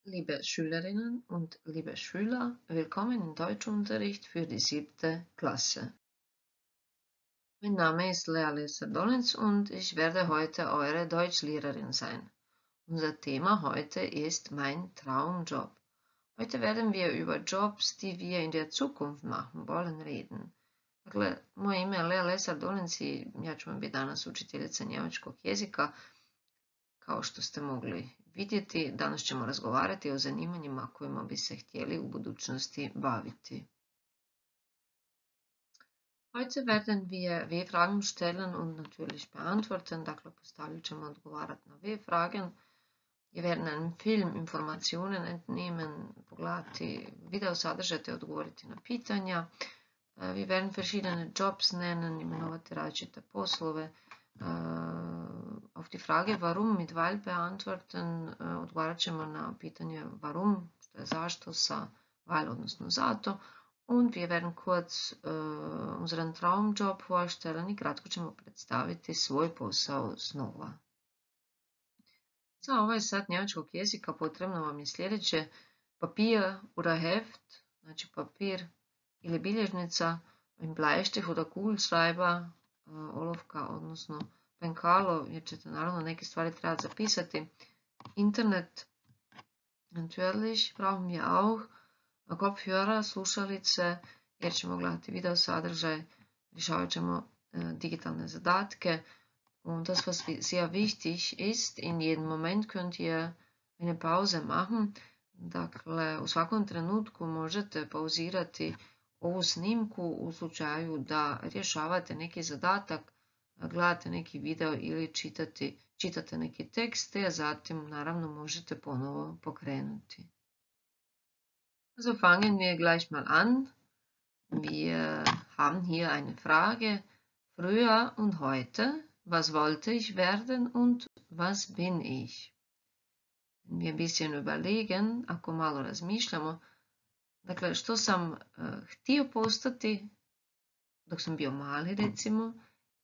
Liebe Schülerinnen und liebe Schüler, willkommen im Deutschunterricht für die 7. Klasse. Mein Name ist Lea Lesser-Dollens und ich werde heute eure Deutschlehrerin sein. Unser Thema heute ist mein Traumjob. Heute werden wir über Jobs, die wir in der Zukunft machen wollen, reden. Dakle, moje ime je Lea Lesar-Dolenc i ja ću vam biti danas učiteljica njemačkog jezika. Kao što ste mogli vidjeti, danas ćemo razgovarati o zanimanjima kojima bi se htjeli u budućnosti baviti. Heute werden wir W-Fragen stellen und natürlich beantworten, dakle postavljat ćemo odgovarati na W-Fragen. Wir werden einem Film Informationen entnehmen, pogledati video sadržaj te odgovoriti na pitanja. Wir werden verschiedene Jobs nennen, imenovati različite poslove. Auf die Frage warum mit weil beantworten, odgovarat ćemo na pitanje warum, što je zašto sa weil odnosno zato. Und wir werden kurz unseren Traumjob vorstellen i kratko ćemo predstaviti svoj posao snova. Za ovaj sat njemačkog jezika potrebno vam je sljedeće: papir oder Heft, znači papir ili bilježnica, ein Bleistift oder Kugelschreiber, olovka odnosno penkalo, jer ćete naravno neke stvari trebati zapisati. Internet, natürlich brauchen wir auch Kopfhörer, slušalice, jer ćemo gledati video sadržaj, rješavat ćemo digitalne zadatke. Und das, was sehr wichtig ist, in jedem Moment könnt ihr eine Pause machen. Dakle, u svakom trenutku možete pauzirati ovu snimku u slučaju da rješavate neki zadatak, gledate neki video ili čitate neki tekst, te zatim naravno možete ponovo pokrenuti. Also fangen wir gleich mal an. Wir haben hier eine Frage. Früher und heute. Was wollte ich werden und was bin ich? Wenn wir ein bisschen überlegen, ako malo razmišljamo, dakle, što sam htio postati dok sam bio mali, recimo,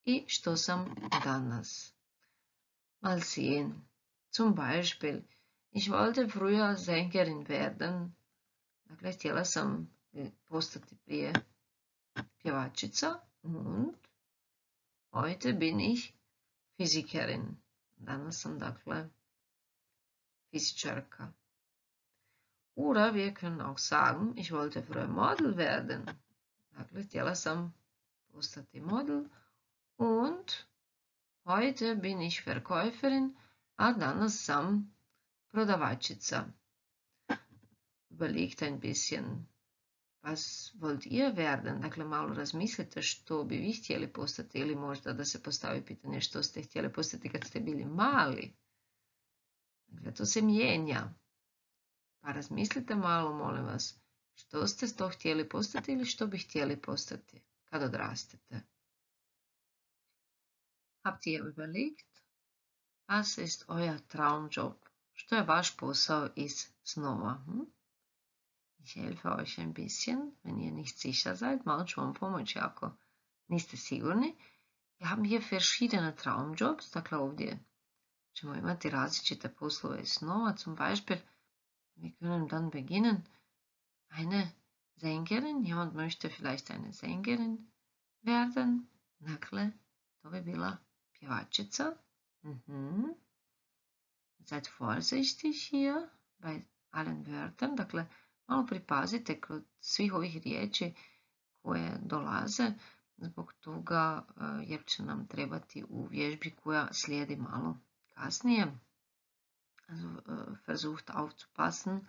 i što sam danas. Mal sehen. Zum Beispiel, ich wollte früher Sängerin werden. Dakle, htjela sam postati prije pjevačica. Und heute bin ich Physikerin. Danas sam, dakle, fizičarka. Oder wir können auch sagen, ich wollte früher Model werden. Dakle, htjela sam postati model. Und heute bin ich Verkäuferin, a danas sam prodavačica. Überlegt ein bisschen, was wollt ihr werden? Dakle, malo razmislite što bi vi htjeli postati ili možda da se postavi pitanje što ste htjeli postati kad ste bili mali. Dakle, to se mijenja. Pa razmislite malo, molim vas, što ste to htjeli postati ili što bi htjeli postati kad odrastete. Habt ihr überlegt? Was ist euer Traumjob? Što je vaš posao iz snova? Ich helfe euch ein bisschen, wenn ihr nicht sicher seid. Malo ću vam pomoći ako niste sigurni. Wir haben hier verschiedene Traumjobs. Dakle, ovdje ćemo imati različite poslove iz snova. Zum Beispiel, wir können dann beginnen. Eine Sängerin. Jemand möchte vielleicht eine Sängerin werden. Dakle, to bi bila pjevačica. Seid vorsichtig hier bei allen Wörtern. Dakle, malo pripazite kod svih ovih riječi koje dolaze, zbog toga jer će nam trebati u vježbi koja slijedi malo kasnije. Also, versucht aufzupassen,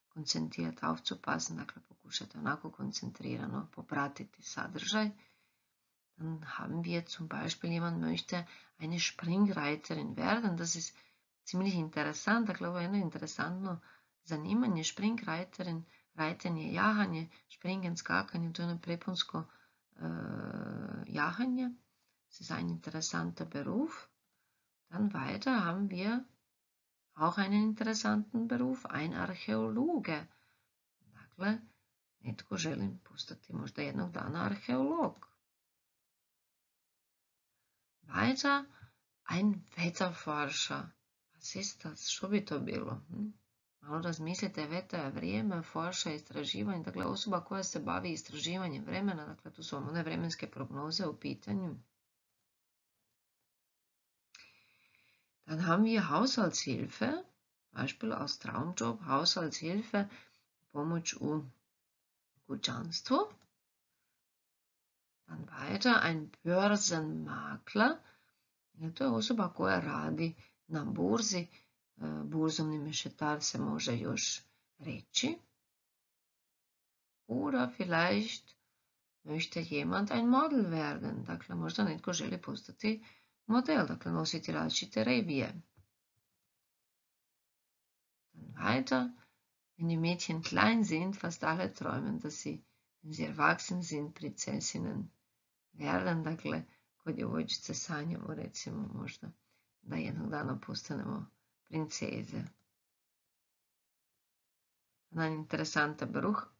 koncentriert aufzupassen, dakle pokušajte onako koncentrirano popratiti sadržaj. Dann haben wir zum Beispiel, jemand möchte eine Springreiterin werden. Das ist ziemlich interessant, dakle ovo je jedno interesantno zanimanje. Springreiterin, reiten jahanje, springen, skakanje, to je ono preponsko jahanje. Das ist ein interessanter Beruf. Dann weiter haben wir auch einen interessanten Beruf, ein Archäologe. Dakle, netko želi postati možda jednog dana arheolog. Weiter, ein Wetterforscher. Was ist das? Što bi to bilo? Malo razmislite, Veta je vrijeme, forša, istraživanje, dakle osoba koja se bavi istraživanjem vremena, dakle tu su vam one vremenske prognoze u pitanju. Dann haben wir Haushaltshilfe, Beispiel aus Traumjob, Haushaltshilfe, pomoć u kućanstvu. Dann weiter, ein Börsenmakler, to je osoba koja radi na burzi, burzovni mešetar se može još reći. Oder vielleicht möchte jemand ein Model werden, dakle možda netko želi postati model, dakle nositi različite revije. Dann weiter, wenn die Mädchen klein sind, fast alle träumen, dass sie, wenn sie erwachsen sind, Prinzessinnen werden, dakle kod djevojčice sanjamo recimo možda da jednog dana postanemo princeze. Ein interessanter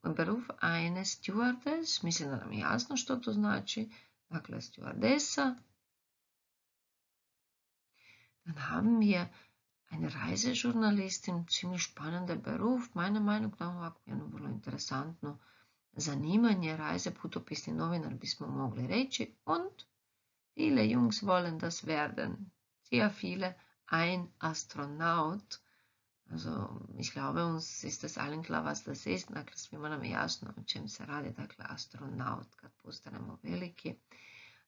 Beruf, eine Stewardess, mislim da nam je jasno što to znači, dakle stewardesa. Dann haben wir eine Reisejournalistin, ziemlich spannender Beruf, meiner Meinung nach ovako jedno vrlo interesantno zanimanje, reiseputopisni novinar bismo mogli reći. Und viele Jungs wollen das werden, sehr viele, ein Astronaut. Also, ich glaube, uns ist das allen klar, was das ist. Dakle, svima nam je jasno o čem se radi, dakle, astronaut, kad postanemo veliki.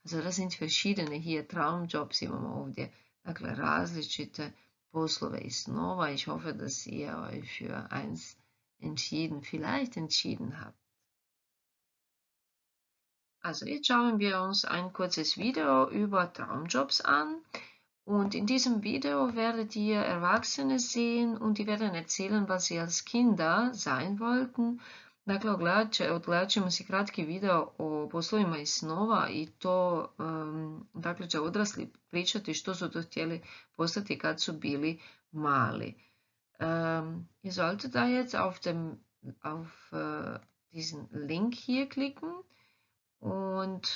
Also, das sind verschiedene hier Traumjobs, imamo ovdje, dakle, različite poslove i snova. Ich hoffe, dass ihr euch für eins vielleicht entschieden habt. Also, jetzt schauen wir uns ein kurzes Video über Traumjobs an. Und in diesem Video werdet ihr Erwachsene sehen und die werden erzählen, was sie als Kinder sein wollten. Dakle, odgledat ćemo si kratki video o poslovima iz snova i to, dakle, će odrasli pričati što su to htjeli postati kad su bili mali. Ihr solltet da jetzt auf diesen Link hier klicken und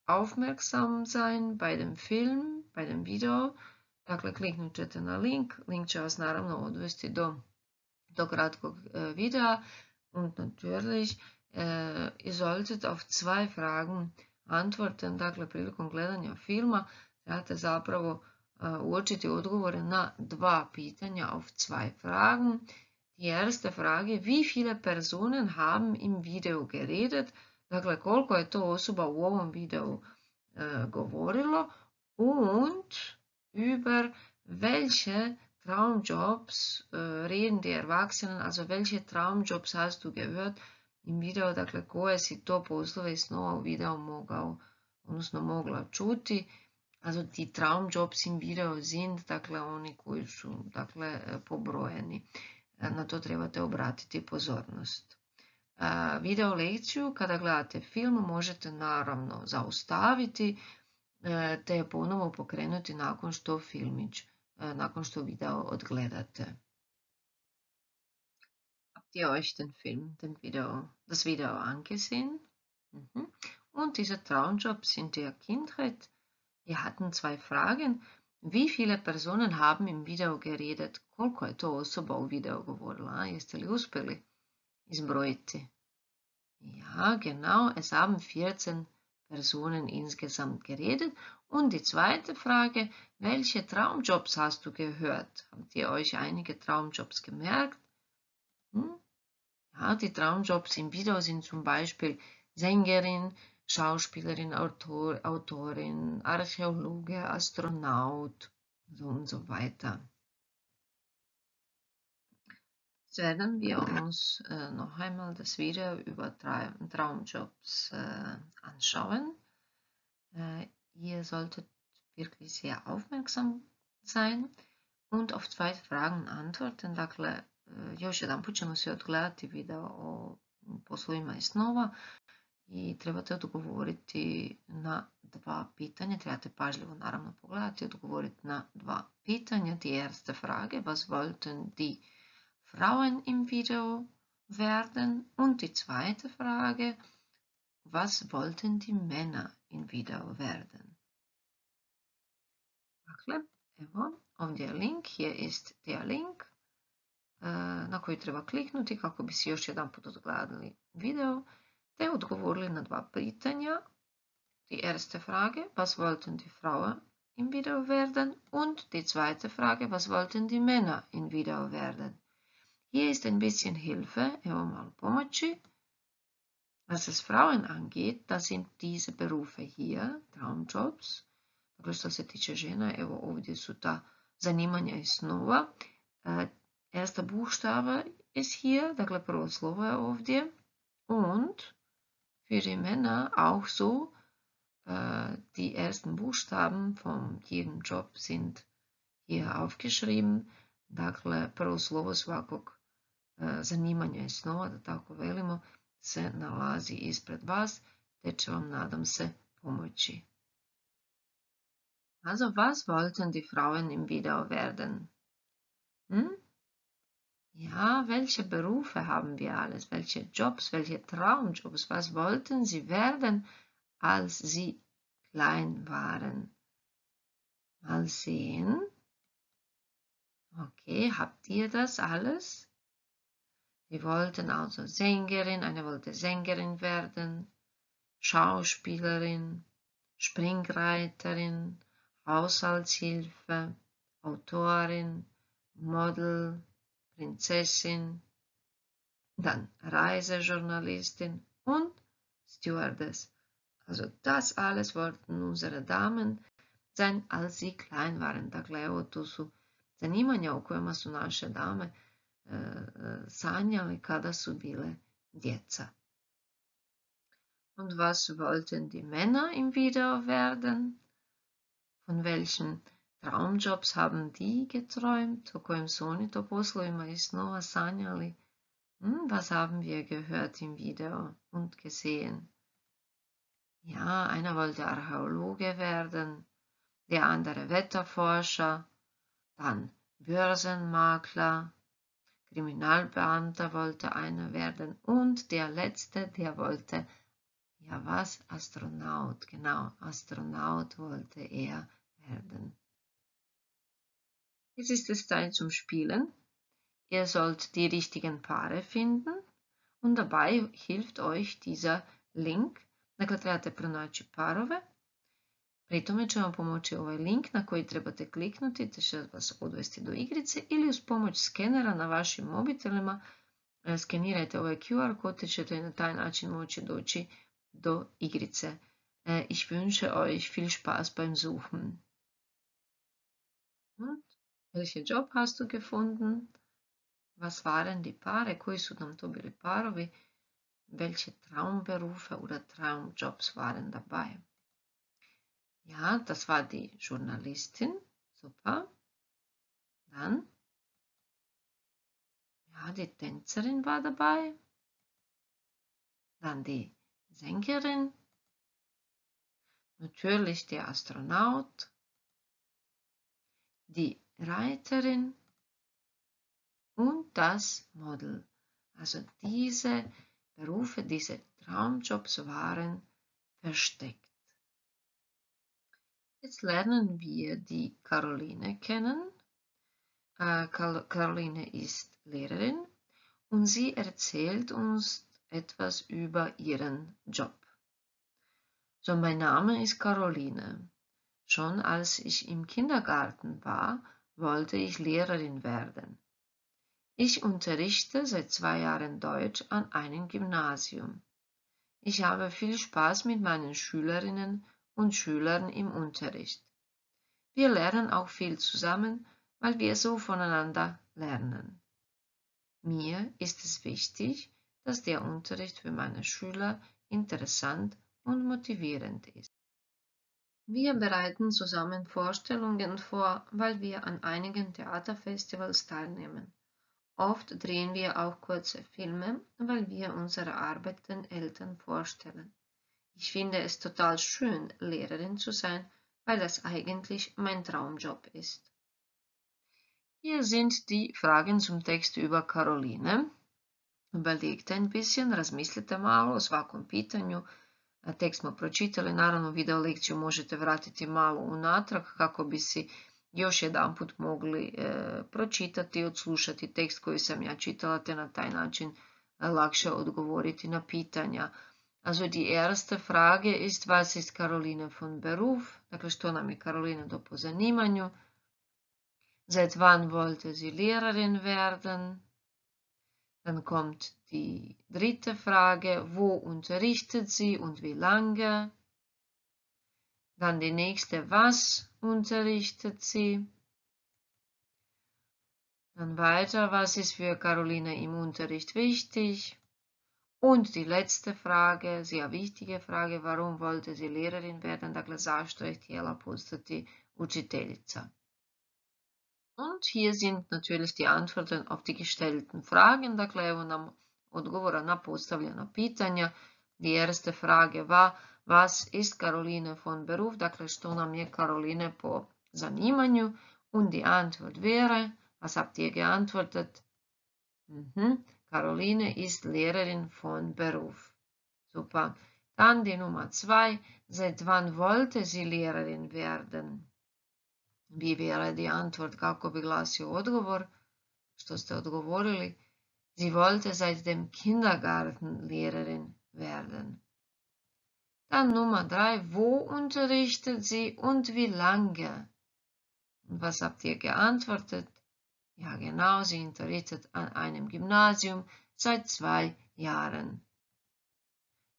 aufmerksam sein bei dem Film, bei dem Video. Dakle, kliknut ćete na link. Link će vas naravno odvesti do kratkog videa. Und natürlich, ihr solltet auf 2 Fragen antworten. Dakle, prilikom gledanja filma trebate zapravo uočiti odgovore na 2 pitanja auf 2 Fragen. Die erste Frage, wie viele Personen haben im Video geredet? Dakle, koliko je to osoba u ovom videu govorilo und über welche Traumjobs reden die Erwachsenen, also welche Traumjobs hast du gehört im Video, dakle koje si to poslove i snova u videu mogla čuti. Also die Traumjobs im Video sind, dakle oni koji su pobrojeni. Na to trebate obratiti pozornost. Video lekciju kada gledate film možete naravno zaustaviti te ponovo pokrenuti nakon što video odgledate. Habt ihr euch das Video angesehen? Und diese Traumjobs in der Kindheit, wir hatten 2 Fragen. Wie viele Personen haben im Video geredet? Koliko je to osoba u videu govorila? Jeste li uspjeli izbrojiti? Ja, genau, es haben 14 Personen insgesamt geredet. Und die zweite Frage, welche Traumjobs hast du gehört? Habt ihr euch einige Traumjobs gemerkt? Ja, die Traumjobs im Video sind zum Beispiel Sängerin, Schauspielerin, Autorin, Archäologe, Astronaut und so weiter. Jetzt werden wir uns noch einmal das Video über Traumjobs anschauen. Ihr solltet wirklich sehr aufmerksam sein und auf 2 Fragen antworten. Dakle, još jedanput ćemo se odgledati video o poslovima iz snova i trebate odgovoriti na 2 pitanja. Trebate pažljivo naravno pogledati i odgovoriti na 2 pitanja. Die erste Frage, was wollten die Frauen im Video werden? Und die zweite Frage, was wollten die Männer im Video werden? Dakle, evo, ovdje je link, hier ist der Link. koji treba kliknuti kako bi si još jedan put odgledali video, te odgovorili na 2 pitanja. Die erste Frage, was wollten die Frauen im Video werden? Und die zweite Frage, was wollten die Männer im Video werden? Hier ist ein bisschen Hilfe, evo malo pomoći. Was es Frauen angeht, da sind diese Berufe hier, Traumjobs. Dakle, što se tiče žena, evo ovdje su ta zanimanja i snova. Erster Buchstabe ist hier, dakle prvo slovo je ovdje. Und für die Männer auch so, die ersten Buchstaben von jedem Job sind hier aufgeschrieben. Dakle, prvo slovo svakog zanimanja i snova, da tako velimo, se nalazi ispred vas, te će vam, nadam se, pomoći. Also, was wollten die Frauen im Video werden? Ja, welche Berufe haben wir alles? Welche Jobs, welche Traumjobs? Was wollten sie werden, als sie klein waren? Mal sehen. Okay, habt ihr das alles? Sie wollten also Sängerin, eine wollte Sängerin werden, Schauspielerin, Springreiterin, Haushaltshilfe, Autorin, Model, Prinzessin, dann Reisejournalistin und Stewardess. Also das alles wollten unsere Damen sein, als sie klein waren. Dakle, evo tu su zanimanja o kojima su naše dame sanjali kada su bile djeca. Und was wollten die Männer im Video werden? Von welchen Traumjobs haben die geträumt? O kojim su oni to poslovima i snova sanjali? Was haben wir gehört im Video und gesehen? Ja, einer wollte Archäologe werden, der andere Wetterforscher, dann Börsenmakler, Kriminalbeamter wollte einer werden und der letzte, der wollte, ja was, Astronaut, genau, Astronaut wollte er werden. Jetzt ist es Zeit zum Spielen. Ihr sollt die richtigen Paare finden und dabei hilft euch dieser Link. Dakle, trebate pronaći parove. Pri tome će vam pomoći ovaj link na koji trebate kliknuti te će vas odvesti do igrice ili uz pomoć skenera na vašim mobitelima skenirajte ovaj QR kod te ćete na taj način moći doći do igrice. Ich wünsche euch viel Spaß beim Suchen. Und welchen Job hast du gefunden? Was waren die Paare? Koji su nam to bili parovi? Welche Traumberufe oder Traumjobs waren dabei? Ja, das war die Journalistin. Super. Dann, ja, die Tänzerin war dabei. Dann die Sängerin. Natürlich der Astronaut. Die Reiterin. Und das Model. Also diese Berufe, diese Traumjobs waren versteckt. Jetzt lernen wir die Caroline kennen. Caroline ist Lehrerin und sie erzählt uns etwas über ihren Job. So, mein Name ist Caroline. Schon als ich im Kindergarten war, wollte ich Lehrerin werden. Ich unterrichte seit 2 Jahren Deutsch an einem Gymnasium. Ich habe viel Spaß mit meinen Schülerinnen und Schülern im Unterricht. Wir lernen auch viel zusammen, weil wir so voneinander lernen. Mir ist es wichtig, dass der Unterricht für meine Schüler interessant und motivierend ist. Wir bereiten zusammen Vorstellungen vor, weil wir an einigen Theaterfestivals teilnehmen. Oft drehen wir auch kurze Filme, weil wir unsere Arbeit den Eltern vorstellen. Ich finde es total schön, Lehrerin zu sein, weil das eigentlich mein Traumjob ist. Hier sind die Fragen zum Text über Caroline. Überlegt ein bisschen, razmislite malo o svakom pitanju. Tekst smo pročitali, naravno video lekciju možete vratiti malo unatrag kako bi si još jedan put mogli pročitati i odslušati tekst koji sam ja čitala, te na taj način lakše odgovoriti na pitanja. Also die erste Frage ist, was ist Caroline von Beruf? Dakle, što nam je Karolina do po zanimanju? Seit wann wollte sie Lehrerin werden? Dann kommt die dritte Frage, wo unterrichtet sie und wie lange? Dann die nächste, was unterrichtet sie? Dann weiter, was ist für Caroline im Unterricht wichtig? Und die letzte Frage, sehr wichtige Frage, warum wollte sie Lehrerin werden? Dakle, zašto je htjela postati učiteljica? Und hier sind natürlich die Antworten auf die gestellten Fragen. Dakle, evo nam odgovora na postavljena pitanja. Die erste Frage war, was ist Caroline von Beruf? Dakle, što nam je Caroline po zanimanju? Und die Antwort wäre, was habt ihr geantwortet? Caroline ist Lehrerin von Beruf. Super. Dann die Nummer 2. Seit wann wollte sie Lehrerin werden? Wie wäre die Antwort? Kako bi glasio odgovor? Što ste odgovorili? Sie wollte seit dem Kindergarten Lehrerin werden. Dann Nummer 3. Wo unterrichtet sie und wie lange? Und was habt ihr geantwortet? Ja, genau, sie unterrichtet an einem Gymnasium seit 2 Jahren.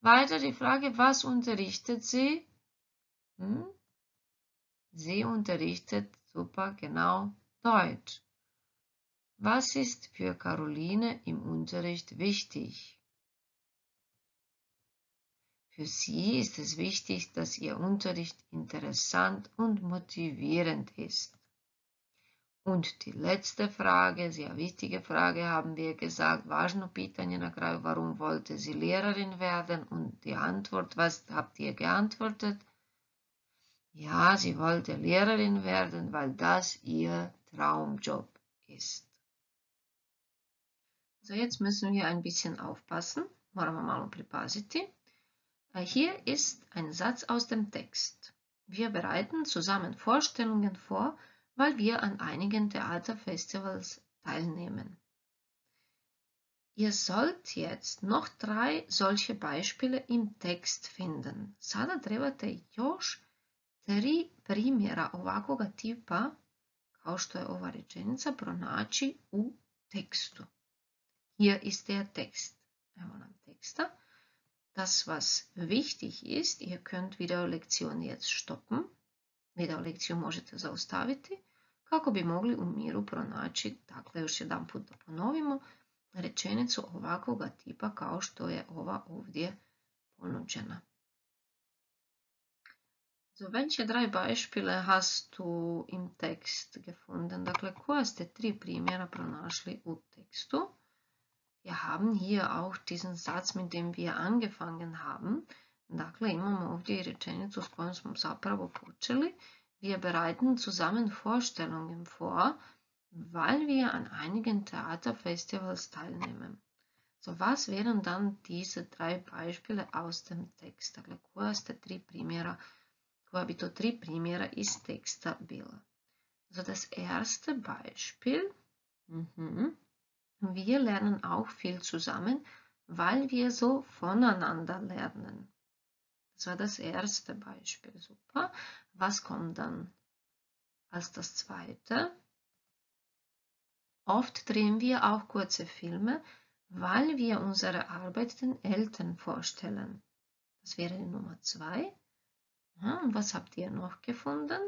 Weiter die Frage, was unterrichtet sie? Sie unterrichtet, super, genau, Deutsch. Was ist für Caroline im Unterricht wichtig? Für sie ist es wichtig, dass ihr Unterricht interessant und motivierend ist. Und die letzte Frage, sehr wichtige Frage, haben wir gesagt, važno pitanje na kraju, warum wollte sie Lehrerin werden? Und die Antwort, was habt ihr geantwortet? Ja, sie wollte Lehrerin werden, weil das ihr Traumjob ist. So, jetzt müssen wir ein bisschen aufpassen, moramo malo pripaziti. Hier ist ein Satz aus dem Text. Wir bereiten zusammen Vorstellungen vor, weil wir an einigen Theaterfestivals teilnehmen. Ihr sollt jetzt noch 3 solche Beispiele im Text finden. Sada trebate još 3 primjera ovakvoga tipa, kao što je ova rečenica, pronaći u tekstu. Hier ist der Text. Evo nam teksta. Das, was wichtig ist, ihr könnt Videolektion jetzt stoppen. Videolekciju možete zaustaviti kako bi mogli u miru pronaći, dakle još jedan put da ponovimo, rečenicu ovakvoga tipa kao što je ova ovdje ponuđena. So, welche 3 Beispiele hast du im Text gefunden? Dakle, koja ste 3 primjera pronašli u tekstu? Wir haben hier auch diesen Satz, mit dem wir angefangen haben. Dakle, imamo ovdje i rečenicu s kojom smo zapravo počeli. Wir bereiten zusammen Vorstellungen vor, weil wir an einigen Theaterfestivals teilnehmen. So, was wären dann diese 3 Beispiele aus dem Text? Dakle, koja bi to 3 primjera iz teksta bila? So, das erste Beispiel. Wir lernen auch viel zusammen, weil wir so voneinander lernen. Das war das erste Beispiel. Super. Was kommt dann als das zweite? Oft drehen wir auch kurze Filme, weil wir unsere Arbeit den Eltern vorstellen. Das wäre die Nummer 2. Und was habt ihr noch gefunden?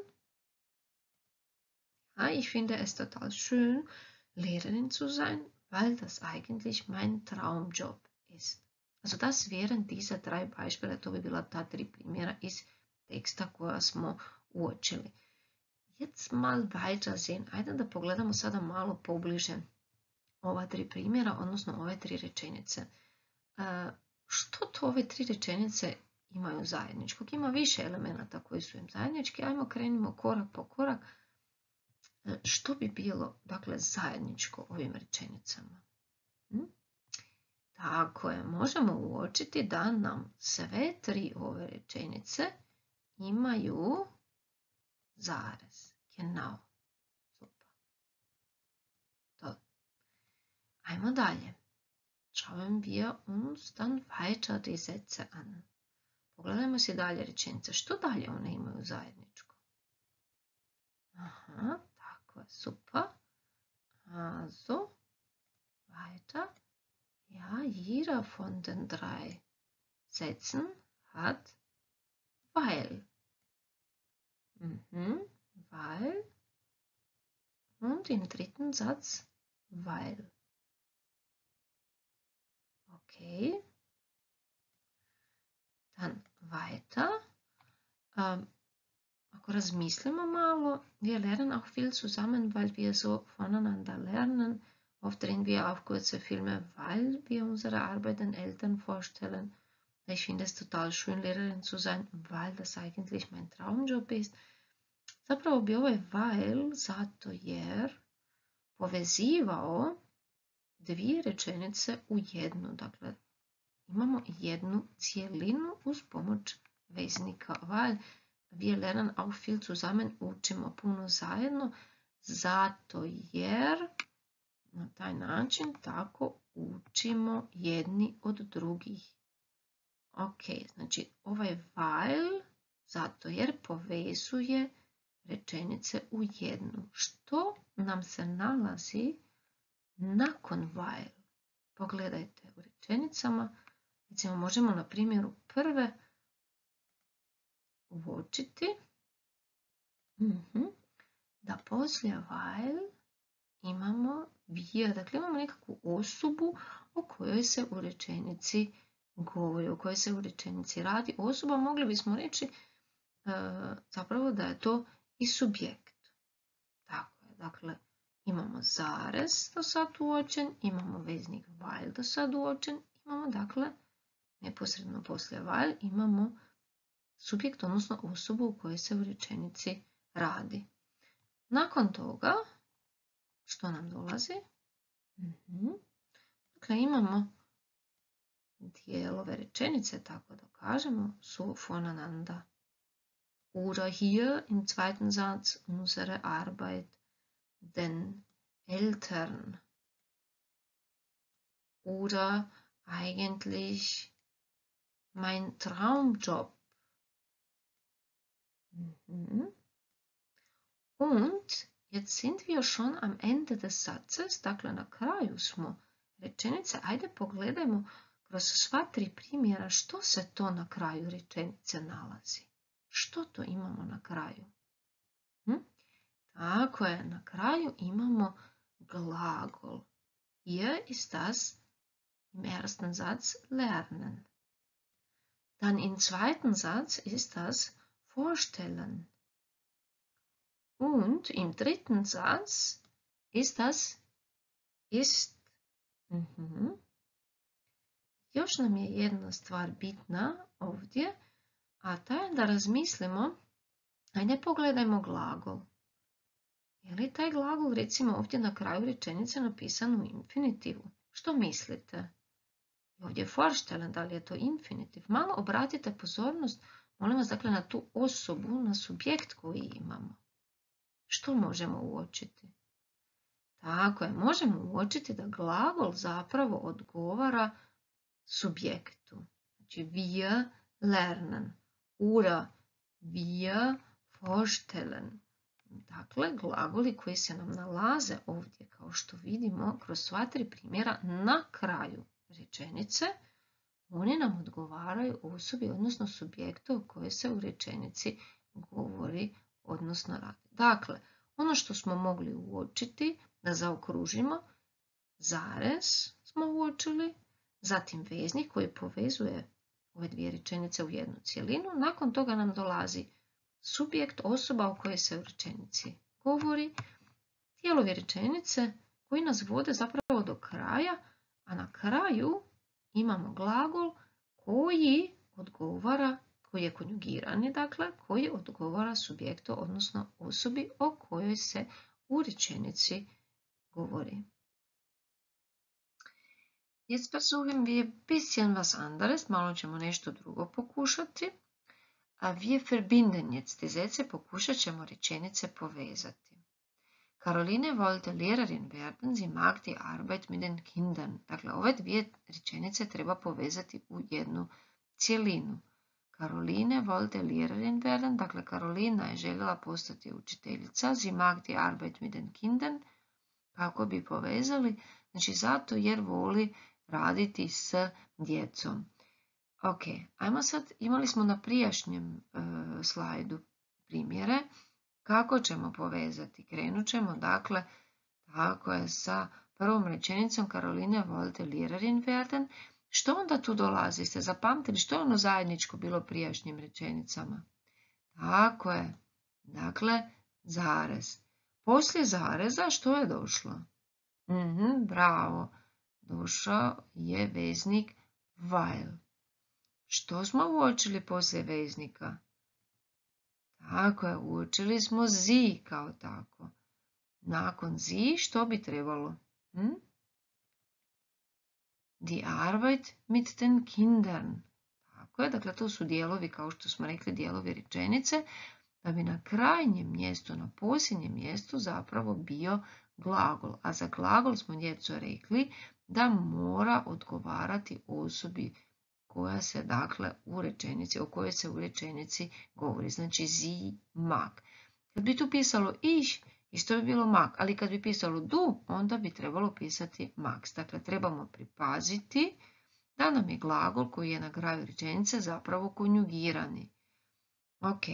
Ja, ich finde es total schön, Lehrerin zu sein, weil das eigentlich mein Traumjob ist. Also das wären diese 3 Beispiele, to bi bila ta 3 primjera iz teksta koja smo uočili. Jetzt mal weiter sehen. Ajde da pogledamo sada malo pobliže ova 3 primjera, odnosno ove 3 rečenice. Što to ove 3 rečenice imaju zajedničkog? Ima više elemenata koji su im zajednički. Ajmo krenimo korak po korak. Što bi bilo, dakle, zajedničko ovim rečenicama? Tako je, možemo uočiti da nam sve 3 ove rečenice imaju zarez. Genau. Ajmo dalje. Schauen wir uns dann weiter die Sätze an. Pogledajmo si dalje rečenice. Što dalje one imaju zajedničko? Aha, tako je, super. Also, weiter. Ja, jeder von den 3 Sätzen hat weil. Weil. Und im 3. Satz weil. Okay. Dann weiter. Ako razmislimo malo, wir lernen auch viel zusammen, weil wir so voneinander lernen. Oft drehen wir auch kurze Filme, weil wir unsere Arbeit den Eltern vorstellen. Ich finde es total schön, Lehrerin zu sein, weil das eigentlich mein Traumjob ist. Zapravo bi ovaj weil, zato jer, povezivao 2 rečenice u jednu. Dakle, imamo jednu cijelinu uz pomoć veznika weil. Wir lernen auch viel zusammen, učimo puno zajedno, zato jer na taj način tako učimo jedni od drugih. Ok, znači ovaj weil, zato jer povezuje rečenice u jednu. Što nam se nalazi nakon weil? Pogledajte u rečenicama. Recimo, možemo na primjeru prve uočiti da poslije weil imamo wir. Dakle, imamo nekakvu osobu o kojoj se u rečenici govori, o kojoj se u rečenici radi. Osoba, mogli bismo reći zapravo da je to i subjekt. Tako je, dakle, imamo zarez do sad uočen, imamo veznik weil do sad uočen, imamo, dakle, neposredno poslije weil imamo subjekt, odnosno osobu u kojoj se u rečenici radi. Nakon toga, što nam dolazi? Dakle, imamo dijelove rečenice, tako da kažemo, so voneinander. Oder hier im 2. Satz unsere Arbeit den Eltern. Oder eigentlich mein Traumjob. Und jetzt sind wir schon am Ende des Satzes, dakle na kraju smo rečenice. Ajde pogledajmo kroz sva 3 primjera što se to na kraju rečenice nalazi. Što to imamo na kraju? Tako je, na kraju imamo glagol. Hier ist das im 1. Satz lernen. Dann im 2. Satz ist das vorstellen. Und im 3. Satz ist das ist. Još nam je jedna stvar bitna ovdje, a ta je da razmislimo, ajde pogledajmo glagol. Je li taj glagol, recimo, ovdje na kraju rečenice napisan u infinitivu? Što mislite? Ovdje je vorstellen, da li je to infinitiv? Malo obratite pozornost, molim vas, dakle, na tu osobu, na subjekt koji imamo. Što možemo uočiti? Tako je, možemo uočiti da glagol zapravo odgovara subjektu. Znači, wir lernen, oder wir vorstellen. Dakle, glagoli koji se nam nalaze ovdje, kao što vidimo, kroz sva 3 primjera na kraju rečenice, oni nam odgovaraju osobi, odnosno subjektu o kojoj se u rečenici govori, odnosno radi. Dakle, ono što smo mogli uočiti, da zaokružimo, zarez smo uočili, zatim veznik koji povezuje ove 2 rečenice u jednu cjelinu. Nakon toga nam dolazi subjekt, osoba o kojoj se u rečenici govori, dijelovi rečenice koji nas vode zapravo do kraja, a na kraju imamo glagol koji odgovara, koji je konjugirani, dakle, koji odgovara subjektu, odnosno osobi o kojoj se u rečenici govori. Jetzt versuchen wir ein bisschen was anderes, malo ćemo nešto drugo pokušati. A wir verbinden jetzt die Sätze, pokušat ćemo rečenice povezati. Caroline wollte Lehrerin werden, sie mag die Arbeit mit den Kindern. Dakle, ove dvije rečenice treba povezati u jednu cjelinu. Caroline wollte Lehrerin werden, dakle, Karolina je željela postati učiteljica, sie mag die Arbeit mit den Kindern. Kako bi povezali? Znači, zato jer voli raditi s djecom. Ok, ajmo sad, imali smo na prijašnjem slajdu primjere. Kako ćemo povezati? Krenut ćemo, dakle, tako je sa prvom rečenicom Caroline wollte Lehrerin werden. Što onda tu dolazi? Ste zapamtili što je ono zajedničko bilo prijašnjim rečenicama? Tako je, dakle, zarez. Poslije zareza što je došlo? Bravo, došao je veznik weil. Što smo uočili poslije veznika? Tako je, uočili smo sie kao tako. Nakon sie što bi trebalo? Die Arbeit mit den Kindern. Tako je, dakle to su dijelovi, kao što smo rekli, dijelovi rečenice, da bi na krajnjem mjestu, na posljednjem mjestu zapravo bio glagol. A za glagol smo djeco rekli da mora odgovarati osobi koja se, dakle, u rečenici, o kojoj se u rečenici govori. Znači, sie mag. Kad bi tu pisalo ich, isto bi bilo mag, ali kad bi pisalo du, onda bi trebalo pisati max. Dakle, trebamo pripaziti da nam je glagol koji je na kraju rečenice zapravo konjugirani. Ok,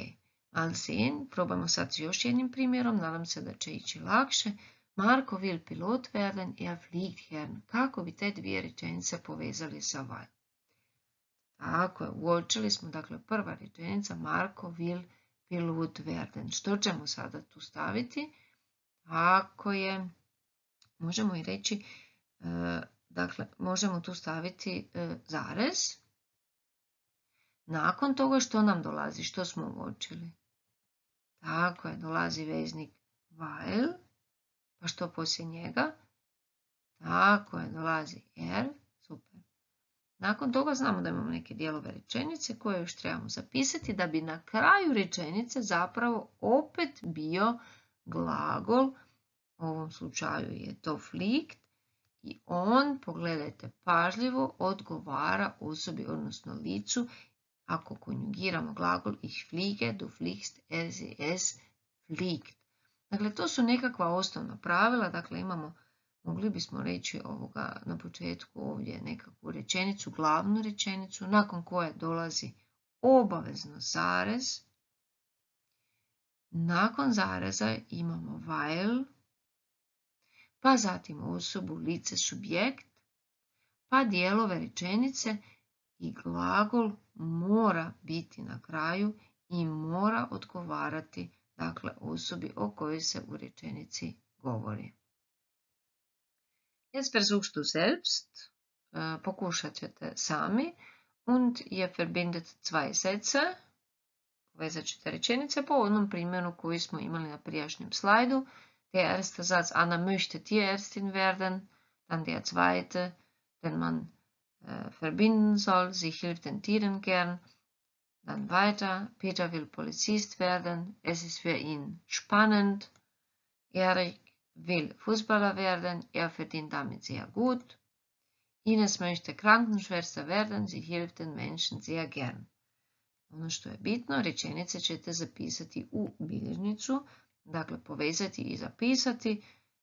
mal sehen, probamo sad s još jednim primjerom, nadam se da će ići lakše. Marko will pilot werden, er fliegt gern. Kako bi te dvije rečenice povezali sa weil? Tako je, uočili smo, dakle, prva rečenica, Marko will pilot werden. Što ćemo sada tu staviti? Ako je, možemo i reći, dakle, možemo tu staviti zarez. Nakon toga što nam dolazi, što smo uočili? Tako je, dolazi veznik weil, pa što poslije njega? Tako je, dolazi er, super. Nakon toga znamo da imamo neke dijelove rečenice koje još trebamo zapisati da bi na kraju rečenice zapravo opet bio glagol, u ovom slučaju je to fliegt, i on, pogledajte pažljivo, odgovara osobi, odnosno licu, ako konjugiramo glagol ich fliege, du fliegst, es fliegt. Dakle, to su nekakva osnovna pravila, dakle imamo, mogli bismo reći ovoga na početku ovdje nekakvu rečenicu, glavnu rečenicu, nakon koje dolazi obavezno zarez. Nakon zareza imamo weil, pa zatim osobu, lice, subjekt, pa dijelove rečenice i glagol mora biti na kraju i mora odgovarati, dakle, osobi o kojoj se u rečenici govori. Jetzt versuchst du selbst, pokušat ćete sami, und ihr verbindet zwei Sätze, povezat ćete rečenice po onom primjeru koji smo imali na prijašnjem slajdu. Der erste Satz, Anna möchte Tierärztin werden, dann der zweite, den man verbinden soll, sie hilft den Tieren gern, dann weiter, Peter will Polizist werden, es ist für ihn spannend, Erik will Fußballer werden, er verdient damit sehr gut, Ines möchte Krankenschwester werden, sie hilft den Menschen sehr gern. Ono što je bitno, rečenice ćete zapisati u bilježnicu, dakle povezati i zapisati.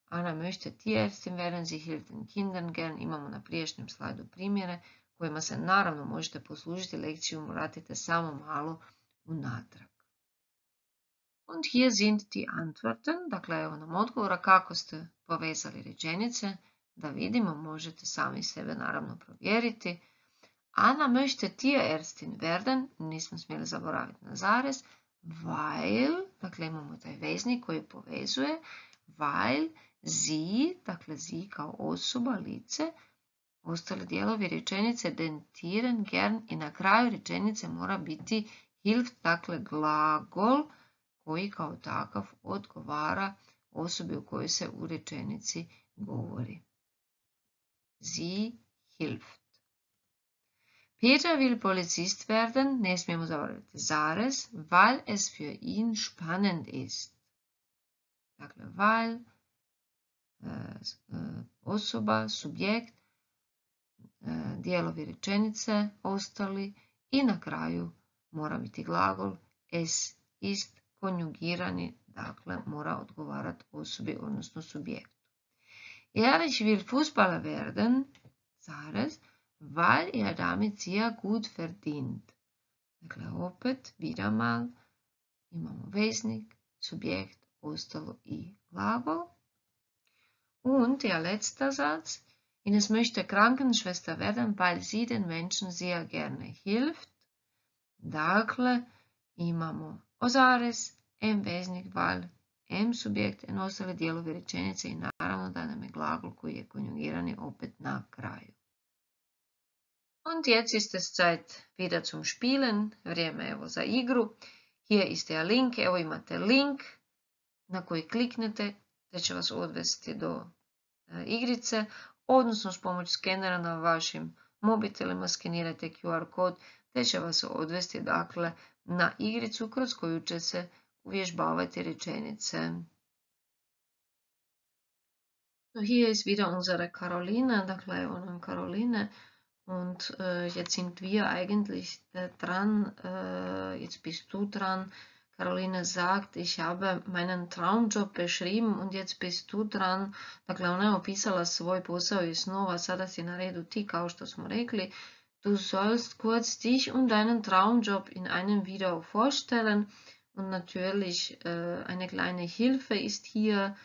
Anna möchte Tierärztin werden, sie hilft den Kindern gern. Imamo na prijašnjem slajdu primjere kojima se naravno možete poslužiti, lekciju vratite samo malo unatrag. Und hier sind die Antworten, dakle evo nam odgovora kako ste povezali rečenice, da vidimo, možete sami sebe naravno provjeriti. Anna möchte Tierärztin werden, nismo smjeli zaboraviti na zarez, weil, dakle imamo taj veznik koji povezuje, weil sie, dakle sie kao osoba, lice, ostali dijelovi rečenice den Tieren gern i na kraju rečenice mora biti hilft, dakle glagol koji kao takav odgovara osobi u kojoj se u rečenici govori. Sie hilft. Peter will Polizist werden, ne smijemo zaboraviti zarez, weil es für ihn spannend ist. Dakle, weil osoba, subjekt, dijelovi rečenice, ostali i na kraju mora biti glagol es ist konjugirani, dakle mora odgovarati osobi, odnosno subjektu. Ich will Fußballer werden, weil damit sehr gut verdient. Dakle, opet, wieder mal, imamo veznik, subjekt, ostalo i glagol. Und der letzte Satz, Ines möchte Krankenschwester werden, weil sie den Menschen sehr gerne hilft. Dakle, imamo ozares, veznik, weil, subjekt, en ostale dijelovi rečenice i naravno da nam je glagol koji je konjugirani opet na kraju. Und jetzt ist es Zeit wieder zum Spielen, vrijeme evo za igru. Hier ist der Link, evo imate link na koji kliknete te će vas odvesti do igrice, odnosno s pomoć skenera na vašim mobitelima skenirajte QR kod te će vas odvesti dakle na igricu kroz koju će se uvježbavati rečenice. So, hier ist wieder unsere Caroline, dakle evo nam Caroline. Und jetzt sind wir eigentlich dran, jetzt bist du dran. Caroline sagt, ich habe meinen Traumjob beschrieben und jetzt bist du dran. Dakle, ona je opisala svoj posao i snova, sada si na redu ti, kao što smo rekli. Du sollst kurz dich und deinen Traumjob in einem Video vorstellen. Und natürlich eine kleine Hilfe ist hier,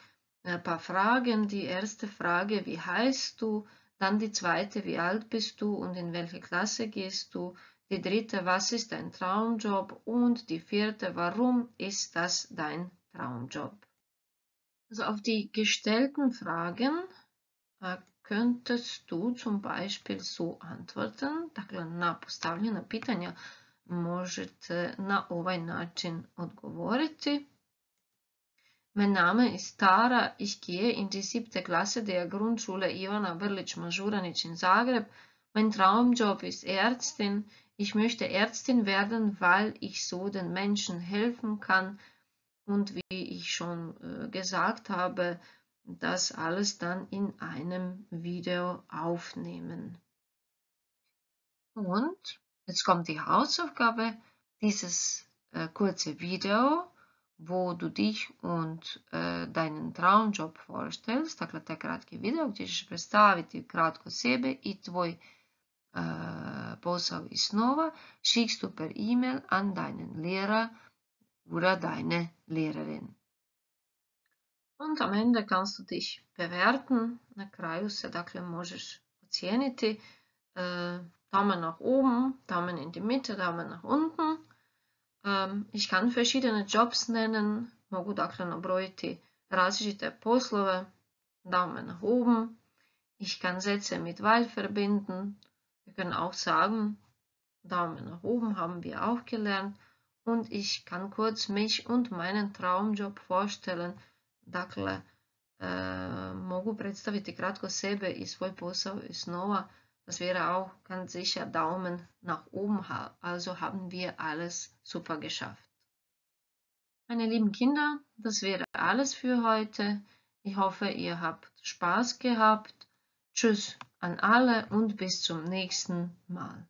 ein paar Fragen. Die erste Frage, wie heißt du? Dann die zweite, wie alt bist du und in welche Klasse gehst du? Die dritte, was ist dein Traumjob? Und die vierte, warum ist das dein Traumjob? Also auf die gestellten Fragen könntest du zum Beispiel so antworten. Dakle, na postavljena pitanja možete na ovaj način odgovoriti. Mein Name ist Tara, ich gehe in die 7. Klasse der Grundschule Ivana Brlić-Mažuranić in Zagreb. Mein Traumjob ist Ärztin. Ich möchte Ärztin werden, weil ich so den Menschen helfen kann. Und wie ich schon gesagt habe, das alles dann in einem Video aufnehmen. Und jetzt kommt die Hausaufgabe, dieses kurze Video, wo du dich und deinen Traumjob vorstellst, dakle taj kratki video gdje ćeš predstaviti kratko sebe i tvoj posao i snova, schickst du per E-Mail an deinen Lehrer oder deine Lehrerin. Und am Ende kannst du dich bewerten, na kraju se dakle možeš ocijeniti, Daumen nach oben, Daumen in die Mitte, Daumen nach unten. Ich kann verschiedene Jobs nennen, mogu dakle nabrojiti različite poslove, Daumen nach oben. Ich kann Sätze mit weil verbinden. Wir können auch sagen, Daumen nach oben haben wir auch gelernt. Und ich kann kurz mich und meinen Traumjob vorstellen. Dakle, mogu predstaviti kratko sebe i svoj posao i snova. Das wäre auch ganz sicher Daumen nach oben, also haben wir alles super geschafft. Meine lieben Kinder, das wäre alles für heute. Ich hoffe, ihr habt Spaß gehabt. Tschüss an alle und bis zum nächsten Mal.